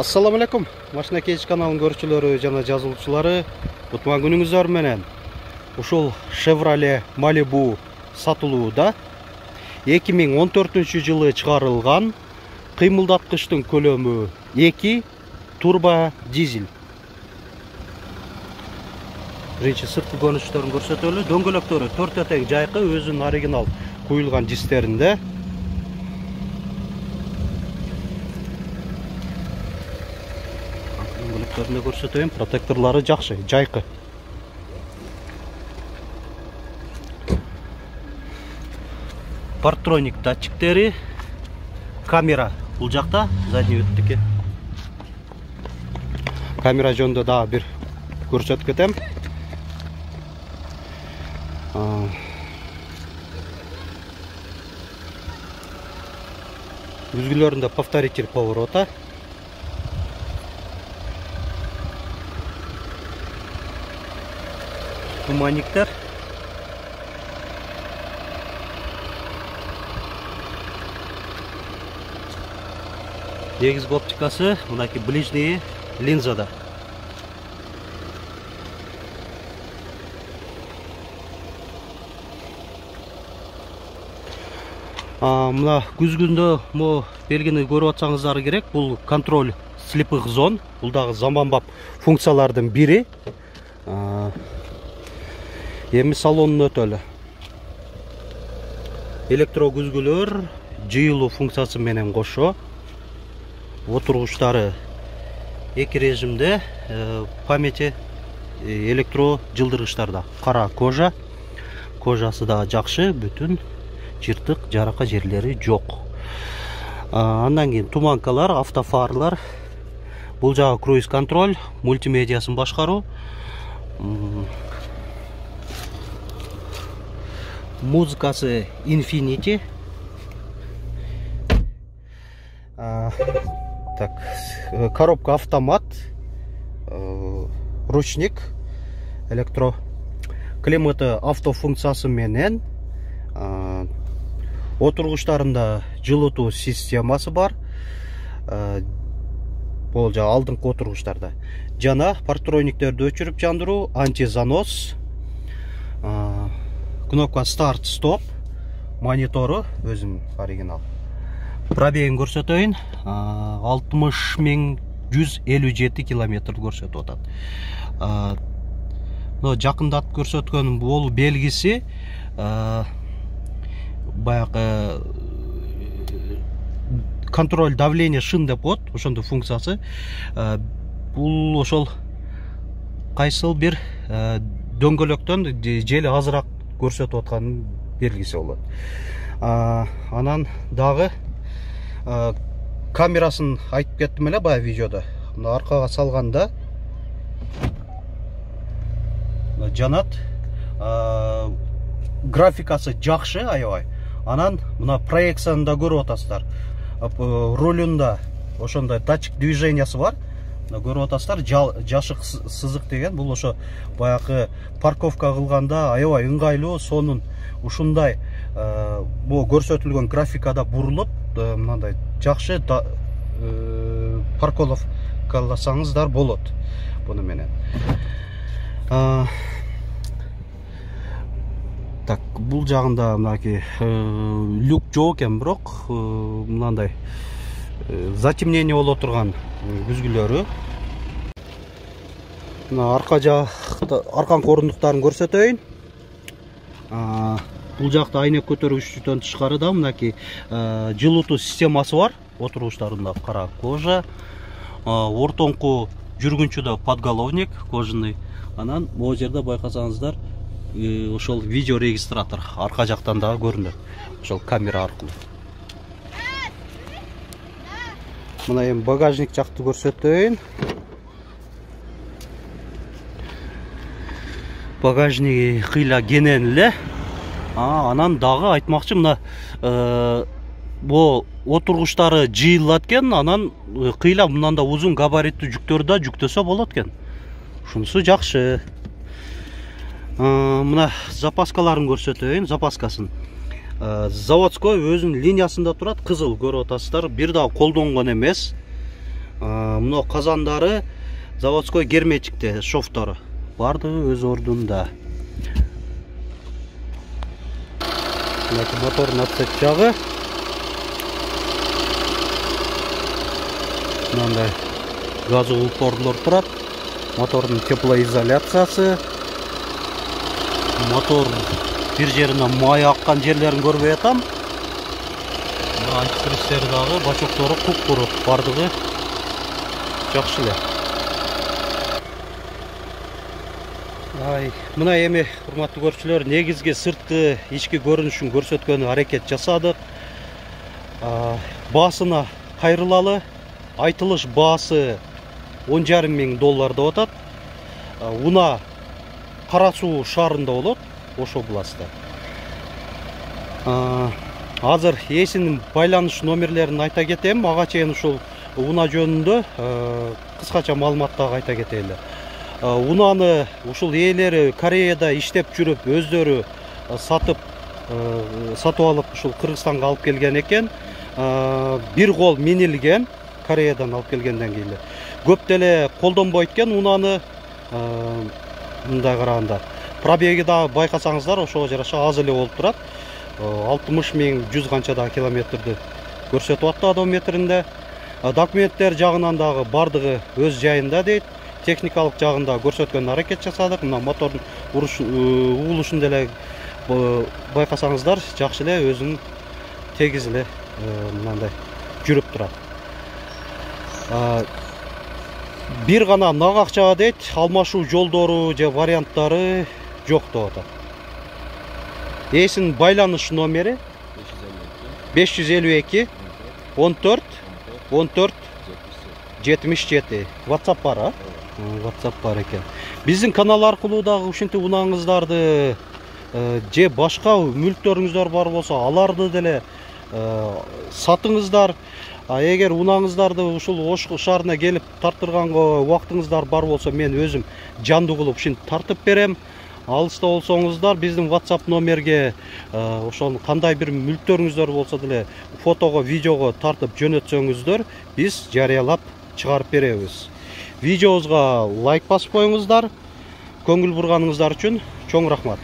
Assalamu alaikum. Машина кеч каналынын көрүүчүлөрү жана жазылуучулары, кутман күнүңүздөр менен. Ушул Chevrolet Malibu сатылууда. 2014-жылы чыгарылган, кыймылдаткычтын көлөмү 2 турбо дизель. Биринчи сырткы көрүнүштөрүн көрсөтөлү. Дөңгөлөктөрү 4 тең жайкы, өзүнүн оригинал куюлган дистеринде. Дөңгөлөктөрүндө көрсөтөйүн, протекторлору жакшы, жайкы. Парктроник датчиктери, камера бул жакта, задний видтики. Камера жөнүндө дагы бир көрсөтүп кетем. Үзгүлөрүндө повторитель поворота. Туманниктер. Негизги оптикасы мынакей ближний линзада. Мына күзгүндө мо белгини көрүп атсаңыздар керек. Бул контроль слепых зон. Бул дагы заманбап функциялардын бири. Эми салонун өтөлү. Электро күзгүлөр жыйылуу функциясы менен кошо. Отургучтары эки режимде, памяти электро жылдыргычтарда. Кара кожа. Кожасы да жакшы, бүтүн жыртык, жарака жерлери жок. Андан кийин туманкалар, автофарлар. Бул жагы круиз контроль, мультимедиасын башкаруу. Музыкасы Infinity. Так, коробка автомат, ручник, электро, климаты автофункциясы менен, отургучтарында жылытуу системасы бар. Бул жа алдыңкы отургучтарда. Жана парктрониктерди өчүрүп жандыруу, антизанос, кнопка старт стоп, монитору өзүнүн оригинал. Пробегин көрсөтөйүн, 60.157 километр көрсөтүп атат. Жакындатып көрсөткөн бул белгиси баягы контроль давление шин деп коет, ошондой функциясы. Бул ошол кайсыл бир дөңгөлөктөн жели азыраак көрсөтүп атканын белгиси болот. Анан дагы камерасын айтып кеттим эле баягы видеодо. Мына аркага салганда жанат, графикасы жакшы, аябай. Анан мына проекцияны да көрүп атасыздар. Рулунда ошондой датчик движениясы бар. Көрүп атасыздар, жашык сызык деген. Бул ошо баягы парковка кылганда аябай ыңгайлуу, сонун ушундай бул көрсөтүлгөн графикада бурулуп, мындай жакшы парковкаласаңыздар болот буну менен. Так, бул жагында мынакей люк жок экен, бирок мындай затемнение боло турган күзгүлөрү. Мына арканкы орундуктарын көрсөтөйүн. Бул жакта айнек көтөргүчтөн тышкары да мынакей жылытуу системасы бар. Отургучтарында кара кожа, ортоңку жүргүнчүдө подголовник кожаный. Анан могу жерде байкасаңыздар, ошол видео регистратор арка жактан дагы көрүнөт. Ошол камера аркылуу. Мына эми багажник жакты көрсөтөйүн. Багажниги кыйла кенен эле. Анан дагы айтмакчы, мына бул отургучтары жыйылат экен, анан кыйла мындан да узун габариттүү жүктөрдү да жүктөсө болот экен. Ушунусу жакшы. Мына запаскаларын көрсөтөйүн, запаскасын. Заводской өзүнүн линиясында турат, кызыл көрүп атасыздар. Бир дагы колдонгон эмес. мына казандары заводской герметикте, шовтору бардыгы өз ордунда. Мотордун отсек жагы мындай газы упорлор турат. Мотордун теплоизоляциясы. Мотор бир жеринен май аккан жерлерин көрбөй атам. Антифриздери дагы бачоктору куп-куру, бардыгы жакшы эле. Мына эми урматтуу көрүүчүлөр, негизги сырткы ички көрүнүшүн көрсөткөнү аракет жасадык. Баасына кайрылалы. Айтылыш баасы $10,5 миң деп атат. Уна Кара Суу шаарында болот, ошо областта. Азыр ээсинин байланыш номерлерин айта кетем. Ага чейин ушул уна жөнүндө кыскача маалымат дагы айта кетели. Унаны ушул ээлери Кореяда иштеп жүрүп, өздөрү сатып алып ушул Кыргызстанга алып келген экен. Бир кол минилген, Кореядан алып келгенден кийин көп деле колдонбойт экен унаны. Мындай караганда пробеги дагы байкасаңыздар ошого жараша аз эле болуп турат. 60 миң 100 канча да километрди көрсөтүп атты одометринде. Документтер жагынан дагы бардыгы өз жайында дейт. Техникалык жагында көрсөткөн аракет жасадык. Мына мотордун угулушун деле байкасаңыздар жакшы эле өзүнүн тегиз эле мындай жүрүп турат. Бир гана нагакчага дейт, алмашуу жолдору же варианттары жок деп атат. Ээсинин байланыш номери 552 14 14 77. WhatsApp бар, WhatsApp бар экен. Биздин канал аркылуу дагы ушинтип унаңыздарды же башка мүлктөрүңүздөр бар болсо, аларды деле сатыңыздар. Эгер унаңыздарды ушул Ош шаарына келип тартырганга убактыңыздар бар болсо, мен өзүм жандуу кылып ушинтип тартып берем. Алыста болсоңуздар биздин WhatsApp номерге ошол кандай бир мүлктөрүңүздөр болсо деле фотого, видеого тартып жөнөтсөңүздөр, биз жарыялап чыгарып беребиз. Видеобузга лайк басып коюңуздар. Көңүл бурганыңыздар үчүн чоң рахмат.